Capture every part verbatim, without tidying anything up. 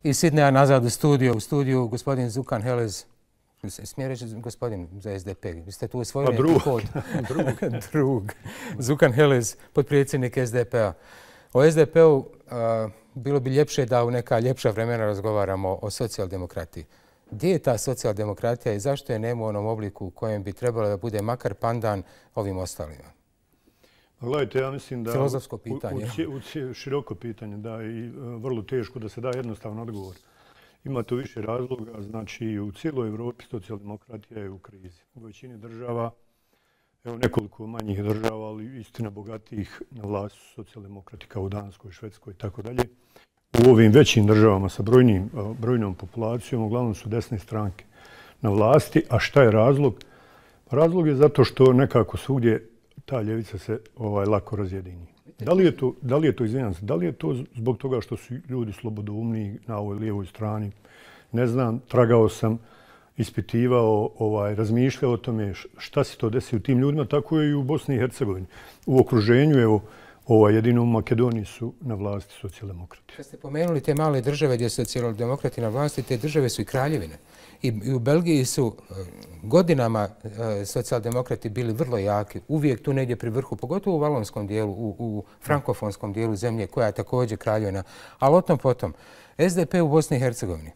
iz Sidneja nazad u studiju. U studiju gospodin Zukan Helez. Smije reći gospodin za S D P. Vi ste tu osvojili neki kod. Drug. Zukan Helez, potpredsjednik S D P-a. O S D P-u bilo bi ljepše da u neka ljepša vremena razgovaramo o socijaldemokratiji. Gdje je ta socijaldemokratija i zašto je nema u onom obliku u kojem bi trebalo da bude makar pandan ovim ostalima? Gledajte, ja mislim da... Filozofsko pitanje. U široko pitanje, da, i vrlo teško da se da jednostavan odgovor. Ima tu više razloga, znači u cijeloj Evropi socijaldemokratija je u krizi. U većini država, evo nekoliko manjih država, ali istina bogatijih na vlasti su socijaldemokrati kao u Danskoj, Švedskoj i tako dalje. U ovim većim državama sa brojnim, brojnom populacijom uglavnom su desne stranke na vlasti. A šta je razlog? Razlog je zato što nekako svugdje ta ljevica se ovaj, lako razjedini. Da li je to, da li je to, izvinjam se, da li je to zbog toga što su ljudi slobodoumni na ovoj lijevoj strani? Ne znam, tragao sam, ispitivao, ovaj, razmišljao o tome šta se to desi u tim ljudima, tako je i u Bosni i Hercegovini. U okruženju, evo, ovaj, jedino u Makedoniji su na vlasti socijaldemokrati. Kad ste pomenuli te male države gdje su socijaldemokrati na vlasti, te države su i kraljevine. I u Belgiji su godinama socijaldemokrati bili vrlo jaki, uvijek tu negdje pri vrhu, pogotovo u valonskom dijelu, u, u frankofonskom dijelu zemlje koja je također kraljevina. Ali o tom potom, S D P u Bosni i Hercegovini.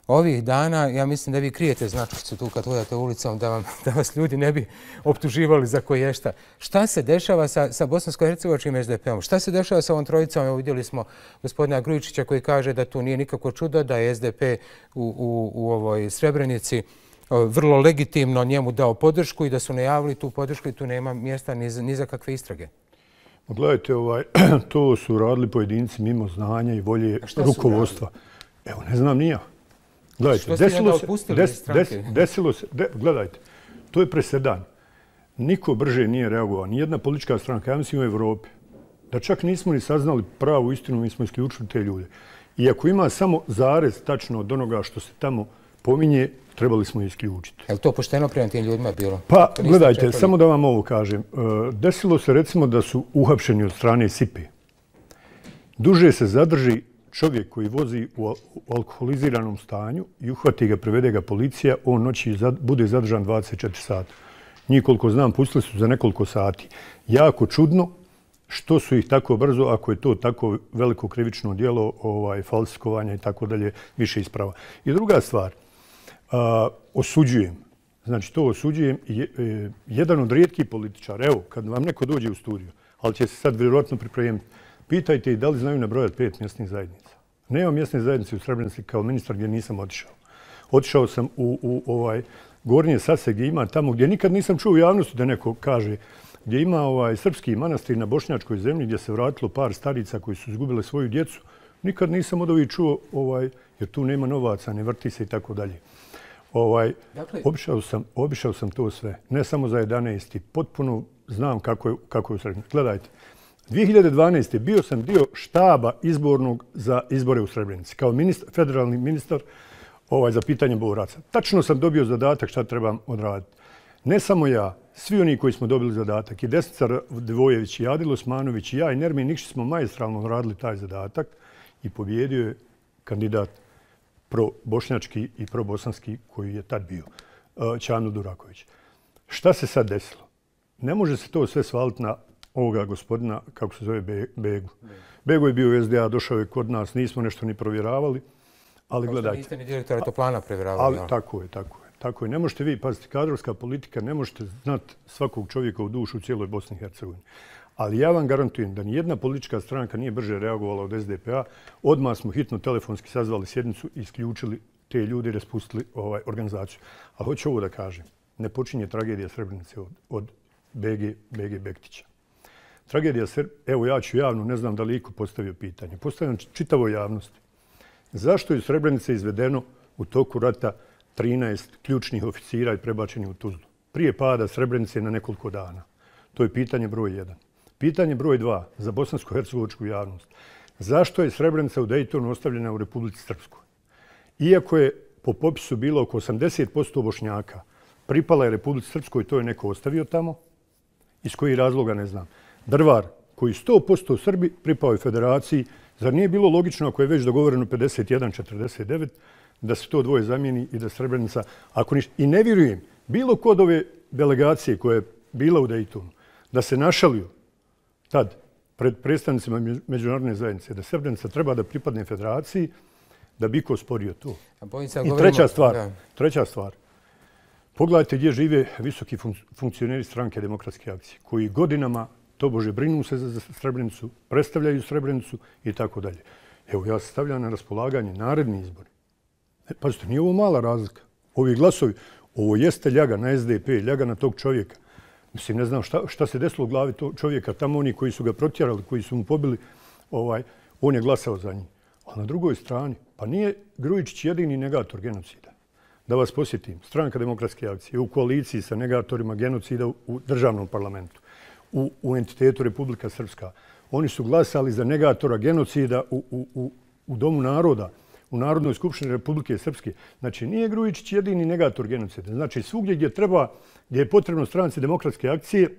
Ovih dana, ja mislim da vi krijete značicu tu kad hodate ulicom, da, vam, da vas ljudi ne bi optuživali za koješta. Šta se dešava sa, sa bosansko-hercegovačkim S D P-om? Šta se dešava sa ovom trojicom? Evo vidjeli smo gospodina Grujičića koji kaže da tu nije nikako čudo, da je S D P u, u, u ovoj Srebrenici vrlo legitimno njemu dao podršku i da su najavili tu podršku i tu nema mjesta ni za, ni za kakve istrage. Gledajte, ovaj, to su radili pojedinci mimo znanja i volje rukovodstva. Evo, ne znam ni ja. Gledajte, desilo se, des, des, desilo se, de, gledajte, to je presedan. Niko brže nije reagovao, nijedna politička stranka, ja mislim u Evropi, da čak nismo ni saznali pravu istinu, mi smo isključili te ljude. I ako ima samo zarez tačno od onoga što se tamo pominje, trebali smo isključiti. Je li to pošteno prema tim ljudima bilo? Pa, gledajte, čekali? Samo da vam ovo kažem. Desilo se recimo da su uhapšeni od strane S I P-e. Duže se zadrži čovjek koji vozi u alkoholiziranom stanju i uhvati ga, prevede ga policija, on noći bude zadržan dvadeset četiri sata. Njih, koliko znam, pustili su za nekoliko sati. Jako čudno što su ih tako brzo, ako je to tako veliko krivično djelo, ovaj, falsifikovanja i tako dalje, više isprava. I druga stvar, a, osuđujem. Znači, to osuđujem. Je, e, jedan od rijetkih političara, evo, kad vam neko dođe u studiju, ali će se sad vjerojatno pripremiti, pitajte i da li znaju nabrojati pet mjesnih zajednica. Nema mjesne zajednice u Srebrenici kao ministar gdje nisam otišao. Otišao sam u, u ovaj Gornje Sase gdje ima tamo gdje nikad nisam čuo u javnosti da neko kaže, gdje ima ovaj srpski manastir na bošnjačkoj zemlji gdje se vratilo par starica koji su izgubile svoju djecu. Nikad nisam od ovih čuo, ovaj, jer tu nema novaca, ne vrti se i tako dalje. Ovaj, dakle, obišao sam, obišao sam to sve. Ne samo za jedanaesti. Potpuno znam kako je, kako je u Srebrenici. Gledajte. dvije hiljade dvanaeste. bio sam dio štaba izbornog za izbore u Srebrenici. Kao ministar, federalni ministar ovaj, za pitanje boraca. Tačno sam dobio zadatak šta trebam odraditi. Ne samo ja, svi oni koji smo dobili zadatak, i Desnica Dvojević, i Adil Osmanović, i ja, i Nermin Nikšić smo maestralno odradili taj zadatak i pobjedio je kandidat pro-bošnjački i pro-bosanski koji je tad bio, Ćano Duraković. Šta se sad desilo? Ne može se to sve svaliti na ovoga gospodina, kako se zove, Begu. Bego je bio u S D A, došao je kod nas, nismo nešto ni provjeravali, ali kao gledajte. Niste ni direktora Toplana provjeravali. Ali ja. tako je, tako je. Tako je. Ne možete vi, pazite, kadrovska politika, ne možete znati svakog čovjeka u dušu u cijeloj Bosni i Hercegovini. Ali ja vam garantujem da nijedna politička stranka nije brže reagovala od S D P-a. Odmah smo hitno telefonski sazvali sjednicu i isključili te ljude i raspustili ovaj, organizaciju. Ali hoću ovo da kažem. Ne počinje tragedija Srebrenice od, od B G, B G Bektića. Tragedija Srebrenice, evo ja ću javno, ne znam da li iko postavio pitanje. Postavljam čitavoj javnosti. Zašto je iz Srebrenice izvedeno u toku rata trinaest ključnih oficira i prebačeni u Tuzlu? Prije pada Srebrenice na nekoliko dana. To je pitanje broj jedan. Pitanje broj dva za bosansko-hercegovačku javnost. Zašto je Srebrenica u Dejtonu ostavljena u Republici Srpskoj? Iako je po popisu bilo oko osamdeset posto Bošnjaka, pripala je Republici Srpskoj, to je neko ostavio tamo. Iz kojih razloga ne znam. Drvar, koji sto posto Srbi, pripao je Federaciji Zar nije bilo logično, ako je već dogovoreno pedeset jedan četrdeset devet, da se to dvoje zamijeni i da Srebrenica, ako ništa... I ne vjerujem, bilo kod ove delegacije koja je bila u Daytonu, da se našalio tad pred predstavnicima međunarodne zajednice, da Srebrenica treba da pripadne federaciji, da bi ko sporio to. I treća stvar, treća stvar. Pogledajte gdje žive visoki funkcioneri stranke Demokratske akcije, koji godinama tobože brinu se za Srebrenicu, predstavljaju Srebrenicu i tako dalje. Evo, ja se stavljam na raspolaganje naredni izbori. E, pazite, nije ovo mala razlika. Ovi glasovi, ovo jeste ljaga na S D P, ljaga na tog čovjeka. Mislim, ne znam šta, šta se desilo u glavi tog čovjeka. Tamo oni koji su ga protjerali, koji su mu pobili, ovaj, on je glasao za njih. A na drugoj strani, pa nije Grujičić jedini negator genocida. Da vas posjetim, stranka Demokratske akcije je u koaliciji sa negatorima genocida u državnom parlamentu, u, u entitetu Republika Srpska. Oni su glasali za negatora genocida u, u, u, u Domu naroda, u Narodnoj skupštini Republike Srpske. Znači, nije Grujičić jedini negator genocida. Znači, svugdje gdje treba, gdje je potrebno stranci Demokratske akcije,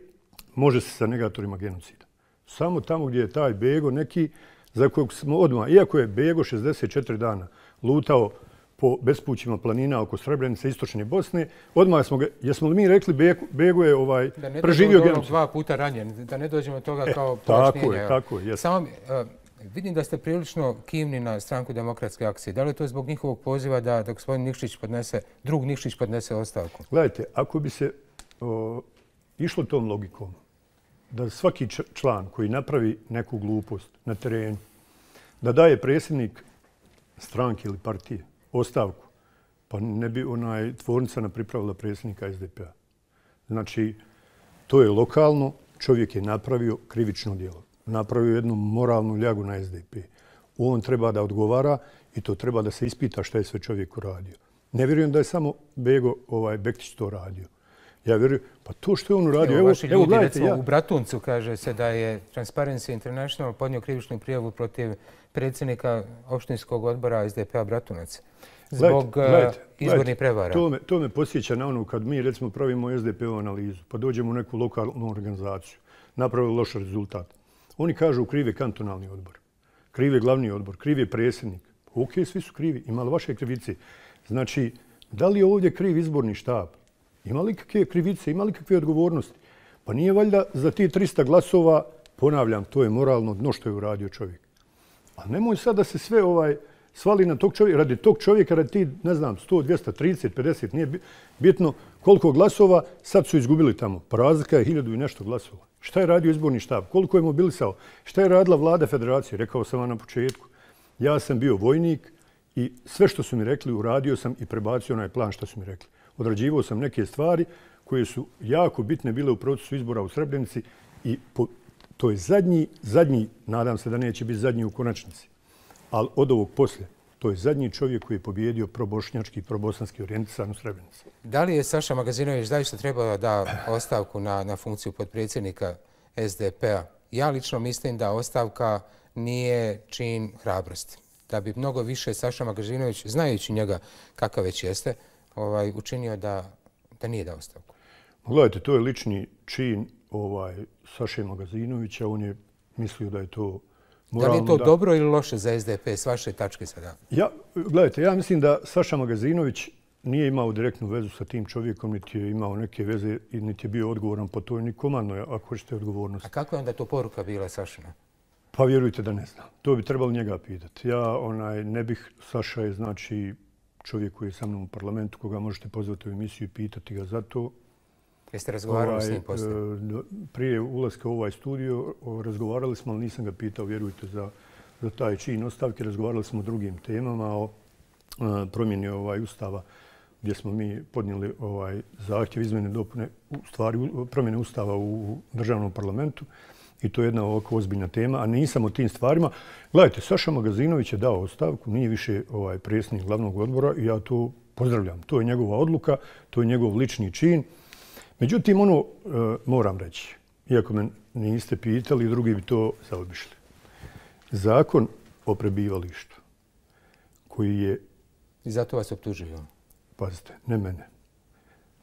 može se sa negatorima genocida. Samo tamo gdje je taj Bego neki za kojeg smo odmah, iako je Bego šezdeset četiri dana lutao po bespućima planina oko Srebrenice, istočne Bosne, odmah smo ga, jesmo li mi rekli Bego, Bego je ovaj, preživio genocid? Da ne dva puta ranjen, da ne dođemo od toga e, kao pojašnjenja. Tako je, tako je. Samo, uh, vidim da ste prilično kivni na stranku Demokratske akcije. Da li je to zbog njihovog poziva da, da gospodin Nikšić podnese, drug Nikšić podnese ostavku? Gledajte, ako bi se o, išlo tom logikom, da svaki član koji napravi neku glupost na terenu, da daje predsjednik stranke ili partije ostavku, pa ne bi onaj tvornica napripravila predsjednika S D P-a. Znači, to je lokalno, čovjek je napravio krivično djelo. Napravio jednu moralnu ljagu na S D P. On treba da odgovara i to treba da se ispita šta je sve čovjek uradio. Ne vjerujem da je samo Bego ovaj, Bektić to radio. Ja vjerujem, pa to što je on uradio... Evo, vaši ljudi, recimo, ja... u Bratuncu kaže se da je Transparency International podnio krivičnu prijavu protiv predsjednika opštinskog odbora S D P-a Bratunac zbog gledajte, izbornih prevara. To me, to me posjeća na ono kad mi, recimo, pravimo S D P-ovu analizu, pa dođemo u neku lokalnu organizaciju, napravili loš rezultat. Oni kažu krivi kantonalni odbor, krivi glavni odbor, krivi predsjednik. Ok, svi su krivi, ima li vaše krivice? Znači, da li je ovdje kriv izborni štab? Ima li kakve krivice, ima li kakve odgovornosti? Pa nije valjda za ti trista glasova, ponavljam, to je moralno dno što je uradio čovjek. A nemoj sad da se sve ovaj svali na tog čovjeka, radi tog čovjeka, radi ti, ne znam, sto, dvjesto, trideset, pedeset, nije bitno koliko glasova, sad su izgubili tamo. Pa razlika je hiljadu i nešto glasova. Šta je radio izborni štab? Koliko je mobilisao? Šta je radila vlada federacije? Rekao sam vam na početku. Ja sam bio vojnik i sve što su mi rekli uradio sam i prebacio onaj plan što su mi rekli. Odrađivao sam neke stvari koje su jako bitne bile u procesu izbora u Srebrenici i po, to je zadnji, zadnji, nadam se da neće biti zadnji u konačnici, ali od ovog poslije, to je zadnji čovjek koji je pobjedio probošnjački i probosanski orijentisan u Srebrenici. Da li je Saša Magazinović zaista trebao da ostavku na, na funkciju potpredsjednika S D P-a? Ja lično mislim da ostavka nije čin hrabrosti. Da bi mnogo više Saša Magazinović, znajući njega kakav već jeste, ovaj, učinio da, da nije dao ostavku. Gledajte, to je lični čin ovaj, Saše Magazinovića. On je mislio da je to moralno. Da li je to da... dobro ili loše za S D P s vaše tačke sada? Ja, gledajte, ja mislim da Saša Magazinović nije imao direktnu vezu sa tim čovjekom, niti je imao neke veze i niti je bio odgovoran po toj ni komandnoj, ako hoćete odgovornost. A kako je onda to poruka bila Sašina? Pa vjerujte da ne znam. To bi trebalo njega pitati. Ja onaj, ne bih, Saša je znači čovjek koji je sa mnom u parlamentu, koga možete pozvati u emisiju i pitati ga za to. Jeste razgovarali ovaj, s njim poslije? Prije ulaska u ovaj studio razgovarali smo, ali nisam ga pitao, vjerujte, za, za taj čin ostavke. Razgovarali smo o drugim temama, o a, promjeni ovaj, ustava, gdje smo mi podnijeli ovaj, zahtjev izmjene dopune, u stvari promjene ustava u državnom parlamentu. I to je jedna ovako ozbiljna tema, a nisam o tim stvarima. Gledajte, Saša Magazinović je dao ostavku, nije više ovaj, predsjednik glavnog odbora i ja to pozdravljam. To je njegova odluka, to je njegov lični čin. Međutim, ono e, moram reći, iako me niste pitali, drugi bi to zaobišli. Zakon o prebivalištu koji je... I zato vas optužuju? Pazite, ne mene.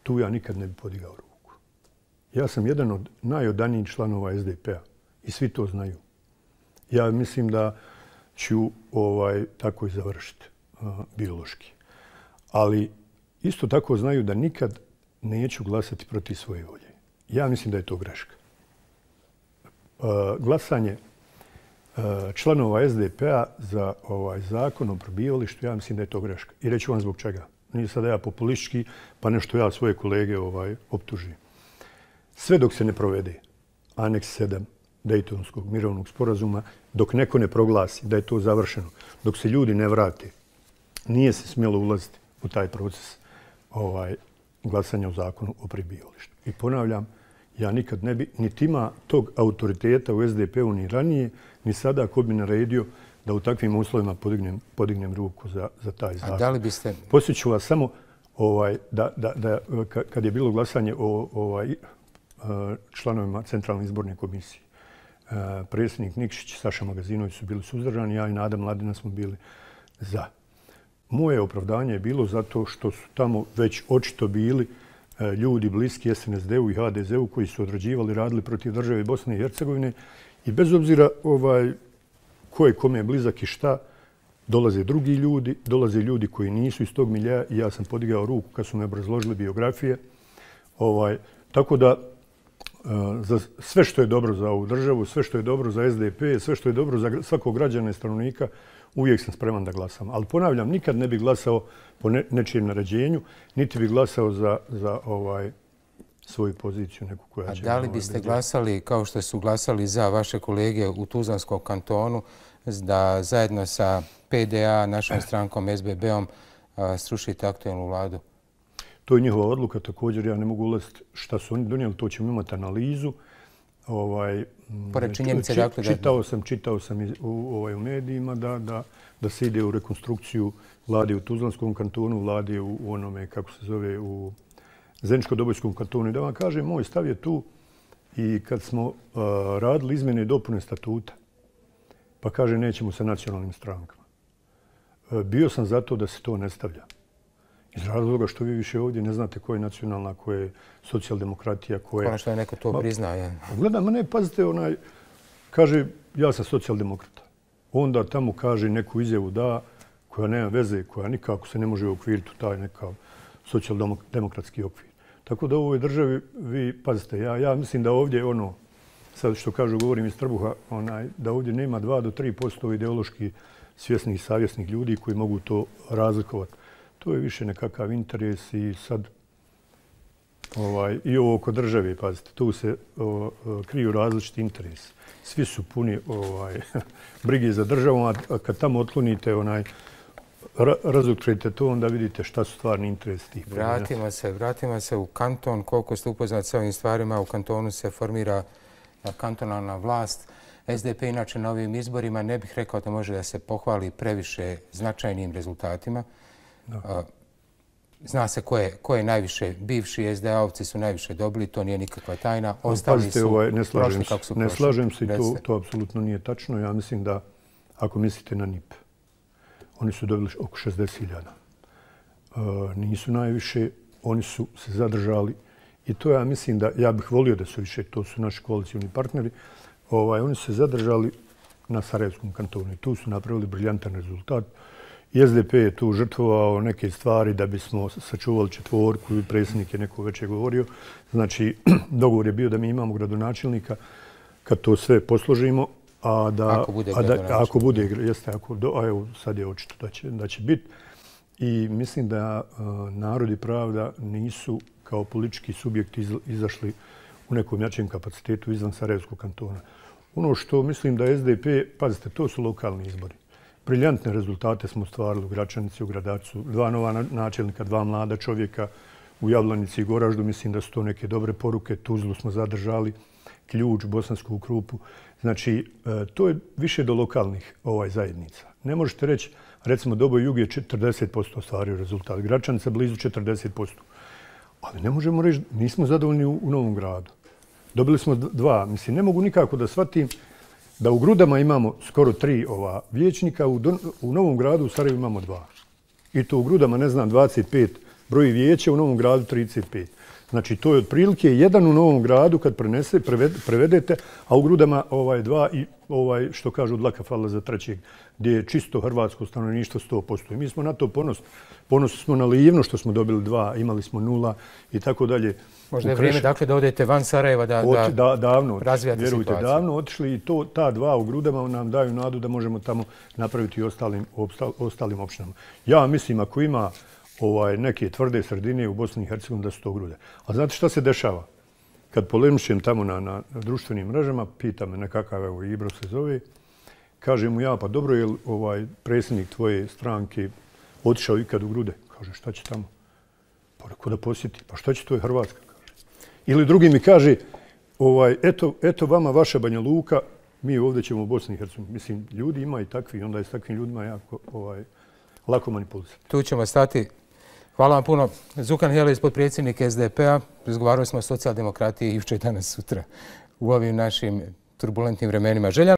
Tu ja nikad ne bi podigao ruku. Ja sam jedan od najodanijih članova S D P-a i svi to znaju. Ja mislim da ću ovaj, tako i završiti uh, biološki. Ali isto tako znaju da nikad neću glasati protiv svoje volje. Ja mislim da je to greška. Uh, glasanje uh, članova S D P-a za ovaj zakon o prebivalištu, ja mislim da je to greška. I reću vam zbog čega. Nije sada ja populistički, pa nešto ja svoje kolege ovaj, optužujem. Sve dok se ne provede aneks sedam Dejtonskog mirovnog sporazuma, dok neko ne proglasi da je to završeno, dok se ljudi ne vrate, nije se smjelo ulaziti u taj proces ovaj, glasanja o zakonu o prebivalištu. I ponavljam, ja nikad ne bi, niti ima tog autoriteta u S D P-u ni ranije, ni sada ko bi naredio da u takvim uslovima podignem, podignem ruku za, za taj zakon. A da li biste... Posjeću vas samo ovaj, da, da, da kad je bilo glasanje o ovaj, članovima Centralne izborne komisije, predsjednik Nikšić i Saša Magazinović su bili suzdržani, ja i Nada Mladina smo bili za. Moje opravdanje je bilo zato što su tamo već očito bili ljudi bliski S N S D-u i H D Z-u koji su odrađivali, radili protiv države Bosne i Hercegovine i bez obzira ovaj, ko je kome je blizak i šta, dolaze drugi ljudi, dolaze ljudi koji nisu iz tog miljeja i ja sam podigao ruku kad su me obrazložili biografije. Ovaj, tako da za sve što je dobro za ovu državu, sve što je dobro za S D P, sve što je dobro za svakog građana i stanovnika, uvijek sam spreman da glasam. Ali ponavljam, nikad ne bih glasao po ne, nečijem naređenju, niti bih glasao za, za ovaj, svoju poziciju. Neku koja A će da li biste glasali, kao što su glasali za vaše kolege u Tuzlanskom kantonu, da zajedno sa P D A, našom strankom S B B-om, srušite aktualnu vladu? To je njihova odluka. Također ja ne mogu ulaziti šta su oni donijeli. To ćemo imati analizu. Ovaj, Pored činjenice, či, dakle... Čitao sam, čitao sam iz, u, ovaj, u medijima da, da, da se ide u rekonstrukciju vlade u Tuzlanskom kantonu, vlade u, u onome, kako se zove, u Zeničko-Dobojskom kantonu. I da vam kažem, moj stav je tu i kad smo uh, radili izmjene i dopune statuta, pa kaže nećemo sa nacionalnim strankama. Uh, bio sam za to da se to ne stavlja. Iz razloga što vi više ovdje ne znate ko je nacionalna, ko je socijaldemokratija, ko je... Ono što je neko to priznaje. Gledam, ma ne, pazite, onaj, kaže, ja sam socijaldemokrata. Onda tamo kaže neku izjavu da, koja nema veze, koja nikako se ne može uokviriti u taj nekav socijaldemokratski okvir. Tako da u ovoj državi, vi, pazite, ja, ja mislim da ovdje ono, sad što kažu, govorim iz trbuha, onaj, da ovdje nema dva do tri posto ideološki svjesnih i savjesnih ljudi koji mogu to razlikovati. To je više nekakav interes i sad ovaj, i ovo oko države, pazite, tu se o, o, kriju različiti interesi. Svi su puni ovaj, brige za državom, a kad tamo otklonite onaj, ra, razotkrijete to, onda vidite šta su stvarni interesi tih pojedinaca. Vratimo se, vratimo se u kanton. Koliko ste upoznati sa ovim stvarima, u kantonu se formira kantonalna vlast. S D P inače na ovim izborima ne bih rekao da može da se pohvali previše značajnim rezultatima. Da. Zna se ko je, ko je najviše, bivši S D A-ovci su najviše dobili, to nije nikakva tajna. Ostali Pazite, su ovaj, ne slažem prošli se, kako su ne prošli. slažem se i to, to apsolutno nije tačno. Ja mislim da, ako mislite na N I P, oni su dobili oko šezdeset hiljada. E, nisu najviše, oni su se zadržali i to ja mislim da, ja bih volio da su više, to su naši koalicijni partneri, ovaj, oni su se zadržali na Sarajevskom kantonu i tu su napravili briljantan rezultat. I S D P je tu žrtvovao neke stvari da bismo sačuvali četvorku i predsjednik je neko već je govorio. Znači, dogovor je bio da mi imamo gradonačelnika kad to sve posložimo, a da... Ako bude a da, ako bude, gradonačelnik. jeste, ako do, a evo, sad je očito da će, da će biti. I mislim da uh, narod i pravda nisu kao politički subjekti iz, izašli u nekom jačem kapacitetu izvan Sarajevskog kantona. Ono što mislim da S D P, pazite, to su lokalni izbori. Briljantne rezultate smo stvarili u Gračanici, u Gradačcu. Dva nova načelnika, dva mlada čovjeka u Jablanici i Goraždu. Mislim da su to neke dobre poruke. Tuzlu smo zadržali, Ključ, Bosansku Krupu. Znači, to je više do lokalnih ovaj, zajednica. Ne možete reći, recimo, Doboj Jug je četrdeset posto ostvario rezultat. Gračanica blizu četrdeset posto. Ali ne možemo reći, nismo zadovoljni u, u Novom Gradu. Dobili smo dva. Mislim, ne mogu nikako da shvatim da u Grudama imamo skoro tri ova vijećnika, u, Don, u Novom Gradu u Sarajevu imamo dva. I to u Grudama, ne znam, dvadeset pet broji vijeća, u Novom Gradu trideset pet. Znači, to je otprilike jedan u Novom Gradu kad prenese, prevedete, a u Grudama ovaj, dva i ovaj, što kažu dlaka fala za trećeg, gdje je čisto hrvatsko stanovništvo sto posto. I mi smo na to ponosni. Ponosni smo na Livno što smo dobili dva, imali smo nula i tako dalje. Možda je vrijeme dakle da odete van Sarajeva da, Ot, da, davno, razvijate vjerujte, situaciju. davno otišli i to, ta dva u Grudama nam daju nadu da možemo tamo napraviti i ostalim, ostalim opštinama. Ja mislim ako ima ovaj, neke tvrde sredine u Bosni i Hercegovini da su to Grude. A znate šta se dešava? Kad polemišem tamo na, na, na društvenim mrežama, pita me nekakav, evo Ibro se zove, kaže mu ja, pa dobro je li ovaj, predsjednik tvoje stranke otišao ikad u Grude? Kaže, šta će tamo? Pa rekao da posjeti. Pa šta će, to je Hrvatska? Kaže. Ili drugi mi kaže, ovaj, eto, eto vama vaša Banja Luka, mi ovdje ćemo u Bosni i Hercegovini. Mislim, ljudi ima i takvi, onda je s takvim ljudima jako ovaj, lako manipulisati. Tu ćemo stati. Hvala vam puno. Zukan Helić, potpredsjednik S D P-a. Razgovarali smo o socijaldemokratiji jučer, danas, sutra u ovim našim turbulentnim vremenima. Želja